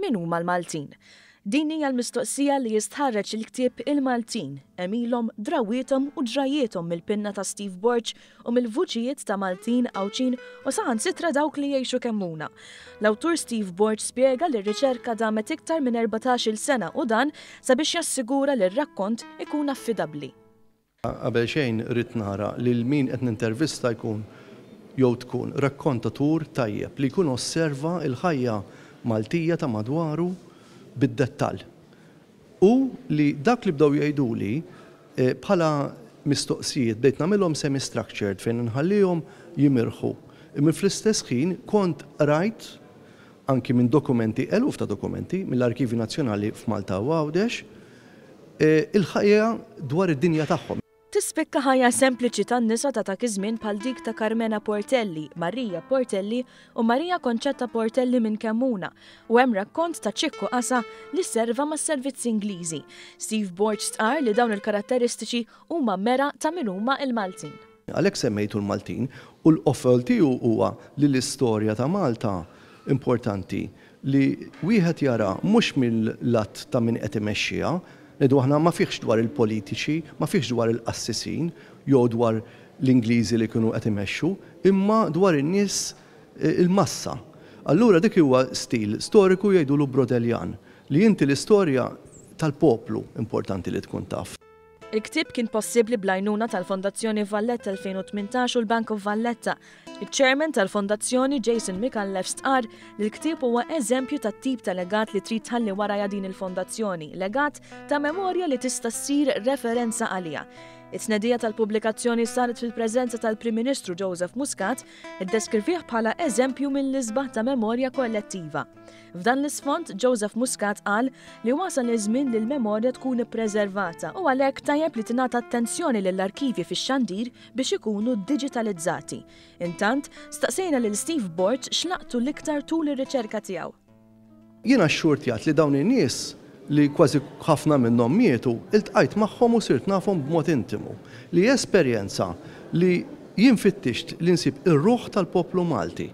Min huma l-Maltin? Din hija l-mistoqsija li jistħarreġ il-ktieb Il-Maltin, għemilhom, drawwiethom u ġrajjiethom mill-pinna ta' Steve Borg u mill-vuċijiet ta' Maltin, Għawdxin u saħansitra dawk li jgħixu Kemmuna. L-awtur Steve Borg spjega li r-riċerka damet iktar minn 14-il sena u dan sabiex jassigura li r-rakkont ikun affidabbli. Qabel xejn ridt nara lil min qed nintervista jkun jew tkun rakkontatur tajjeb li jkun osserva l-ħajja Maltija ta' madwaru bid-dettall. U li dak li bdew jgħiduli bħala mistoqsijiet bdejt nagħmilhom semi-structured fejn inħallihom jimirħu. Imma fl-istess ħin kont qrajt anki minn dokumenti, eluf ta' dokumenti, mill-Arkivji Nazzjonali f'Malta u Għawdex, il-ħajja dwar id-dinja tagħhom. Tispikka ħajja sempliċi tan-nisa ta' dak iż-żmien bħal dik ta' Carmena Portelli, Maria Portelli u Maria Concetta Portelli minn Kemmuna u hemm rakkont ta' Ċikku Qasa li serva mas-servizzi Ingliżi. Steve Borg stqarr li dawn il-karatteristiċi huma mera ta' min huma l-Maltin. Għalhekk semmejtu l-Maltin u l-qofol tiegħu huwa li l-istorja ta' Malta importanti li wieħed jara mhux mill-lat ta' min qed imexxiha, ngħidu aħna ma fihx dwar il-politiċi, ma fihx dwar il-qassisin jew dwar l-Ingliżi li kienu qed imexxu, imma dwar in-nies il-massa. Allura dik huwa stil storiku jgħidulu Brodeljan, li inti l-istorja tal-poplu importanti li tkun taf. Il-ktieb kien possibbli bl-għajnuna tal-Fondazzjoni Valletta 2018 u l-Bank of Valletta. Iċ-Chairman tal-Fondazzjoni Jason Micallef stqarr li l-ktieb huwa eżempju tat-tip ta' legat li trid tħalli warajha din il-fondazzjoni, legat ta' memorja li tista' ssir referenza għaliha. It-tnedija tal-pubblikazzjoni saret fil-preżenza tal-Prim Ministru Joseph Muscat, iddeskrivih bħala eżempju mill-isbaħ ta' memorja kollettiva. F'dan l-isfond, Joseph Muscat qal li wasal iż-żmien li l-memorja tkun ippreservata u għalhekk tajjeb li tingħata attenzjoni lill-arkivji fix-xandir biex ikunu diġitalizzati. Intant, staqsejna lil Steve Borg x'laqtu l-iktar tul ir-riċerka tiegħu. Jiena xxurtjat li dawn in-nies, li kważi ħafna minnhom mietu, iltqajt magħhom u sirt nafhom b'mod intimu, li esperjenza li jien fittixt li nsib ir-ruħ tal-poplu Malti.